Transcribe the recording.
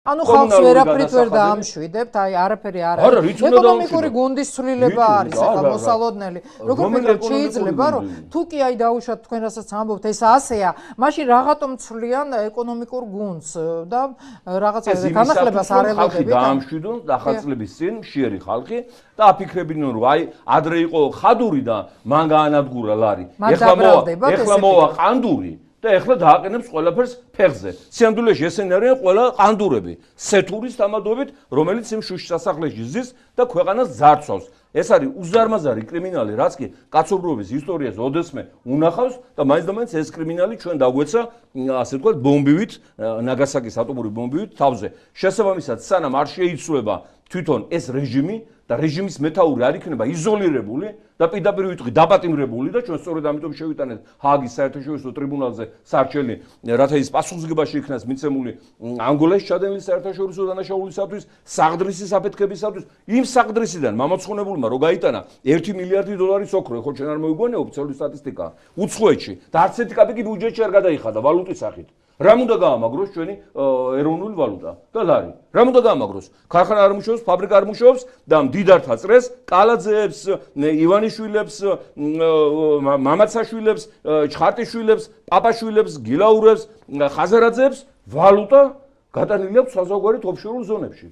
ანუ ხალხს ვერაფრით ვერ დაამშვიდებთ, აი არაფერი არ არის. ეკონომიკური გუნდის ცვლილება არის ახლა მოსალოდნელი. როგორ ფიქრობთ, შეიძლება რომ თუ კი აი დაუშვათ თქვენ რასაც ამბობთ, ეს ასეა, მაშინ რაღაცომ ცვლიან ეკონომიკურ გუნდს და რაღაცა განახლებას არ ელოდებიან. ხალხი დაამშვიდონ ახალწლების წინ მშიერი ხალხი და აფიქრებინონ რომ აი ადრე იყო ხადური და მან გაანადგურა ლარი. ეხლა მოვა ყანდური და ეხლა დააყენებს ყველაფერს ფეხზე. სიამდვილეში ესენი არიან ყველა ყანდურები, სეთურის თამადობით, რომელიც იმ შუშ სასახლეში ზის და ქვეყანას ძარცვავს. ეს არის უზარმაზარი კრიმინალი, რაც კი კაცობრიობის ისტორიას ოდესმე უნახავს და მაინც და მაინც ეს კრიმინალი ჩვენ დაგვეცა, ასე ვთქვათ, ბომბივით, ნაგასაკის ატომური ბომბივით თავზე. შესაბამისად, სანამ არ შეიცვლება თვითონ ეს რეჟიმი და რეჟიმის მეთაური არ იქნება იზოლირებული და პირდაპირ ვიტყვი დაპატიმრებული და ჩვენ სწორედ ამიტომ შევიტანეთ ჰააგის საერთაშორისო ტრიბუნალზე სარჩელი, რათა ის პასუხისგებაში იქნას მიცემული ანგოლაში ჩადენილი საერთაშორისო დანაშაულისათვის, საღდრისის აფეთქებისათვის, იმ საღდრისიდან მამოცხონებულმა რო გაიტანა 1 მილიარდი დოლარის ოქრო, ხო ჩვენ არ მოიგონია ოფიციალური სტატისტიკა უცხოეთში და არც ერთი კაპიკი ბიუჯეტში არ გადაიხადა ვალუტის სახით. რამ უნდა გაამაგროს ჩვენი ეროვნული ვალუტა და ლარი? რამ უნდა გაამაგროს? ქარხანა არ მუშაობს, ფაბრიკა არ მუშაობს და მდიდართა წრეს, კალაძეებს, ივანიშვილებს, მამაცაშვილებს, ჩხარტიშვილებს, პაპაშვილებს, გილაურებს, ხაზარაძეებს ვალუტა გადანილი აქვს საზღვარი ოფშორულ ზონებში.